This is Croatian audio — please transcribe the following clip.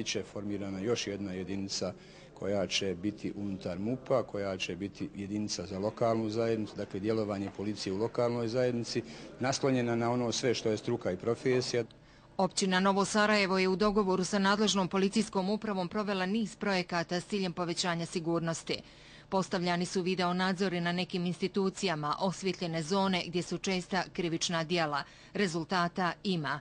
Biće formirana još jedna jedinica koja će biti unutar MUP-a, koja će biti jedinica za lokalnu zajednicu, dakle djelovanje policije u lokalnoj zajednici, naslonjena na ono sve što je struka i profesija. Općina Novo Sarajevo je u dogovoru sa nadležnom policijskom upravom provela niz projekata s ciljem povećanja sigurnosti. Postavljani su video nadzori na nekim institucijama, osvjetljene zone gdje su česta krivična djela. Rezultata ima.